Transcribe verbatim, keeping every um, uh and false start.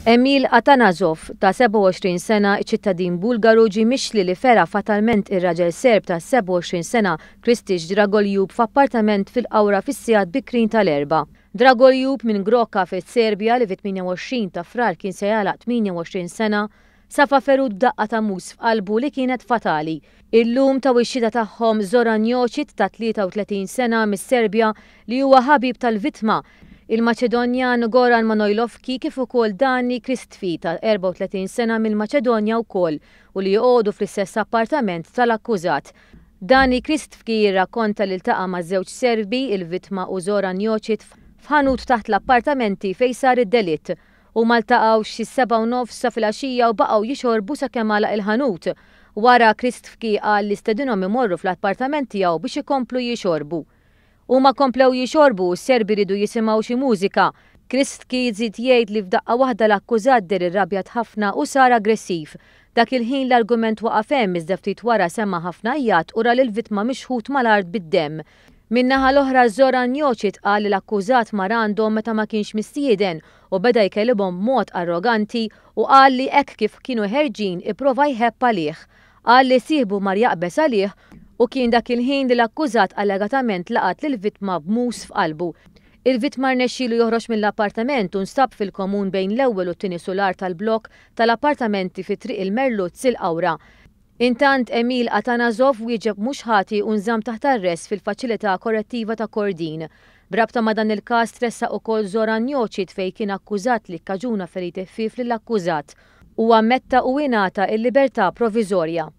Emil Atanasov ta' sebgħa u għoxrin sena, ċittadin Bulgaru, ġie mixli li fera fatalment ir-raġel Serb ta' sebgħa u għoxrin sena Kristiċ Dragoljub f'appartament fil-Qawra fis-sigħat bikrin tal-Erbgħa. Dragoljub minn Groka fis-Serbja, li fit-tmienja u għoxrin ta' Frar kien se jagħlaq tmienja u għoxrin sena, safa ferut b'daqqa ta' mus f'qalbu li kienet fatali. Illum taw ix-xhieda tagħhom Zoran Jocic ta' tlieta u tletin sena mis-Serbja, li huwa ħabib tal-vittma, il-Maċedonjan Goran Manojlovski, kif ukoll Dani Kristfi ta' erbgħa u tletin sena mill-Maċedonja wkoll, u li joqogħdu fl-istess appartament tal-akkużat. Dani Kristfi jirrakkonta li ltaqa' ma' żewġ Serbi, il-vittma u Zoran Jocic, f'ħanut taħt l-appartamenti fejn sar id-delitt. Huma ltaqgħu xi sebgħa u nofs sa filgħaxija u baqgħu jixorbu sakemm għalaq il-ħanut. Wara Kristfi qal li stedinhom imorru fl-appartament tiegħu biex ikomplu jixorbu. Huma komplew jixorbu u s-Serbi ridu jisimgħu xi mużika. Kristki żied jgħid li f'daqqa waħda l-akkużat deher irrabjat ħafna u sar aggressiv. Dak il-ħin l-argument waqaf hemm, iżda ftit wara sema' ħafna għajjat u ra lill-vittma mixħut mal-art bid-demm. Min-naħa l-oħra Zoran Jocic qal li l-akkużat mar għandhom meta ma kienx mistieden u beda jkellibhom b'mod arroganti u qal li hekk kif kienu ħerġin ipprova jħebb għalih. Qal li sieħbu mar jaqbeż għalih u kien dak il-ħin li l-akkużat allegatament laqat lill-vittma b'mus f'qalbu. Il-vittma rnexxielu joħroġ mill-appartament u nstab fil-komun bejn l-ewwel u t-tieni sular tal-blok tal-appartamenti fi Triq il-Merluzz il-Qawra. Intant Emil Atanasov wieġeb mhux ħati u nżamm taħt arrest fil-faċilità korrettiva ta' Kordin. B'rabta ma' dan il-każ tressaq ukoll Zoran Jocic fejn kien akkużat li kkaġuna feriti ħfief lill-akkużat. Huwa ammetta u ingħata l-libertà proviżorja.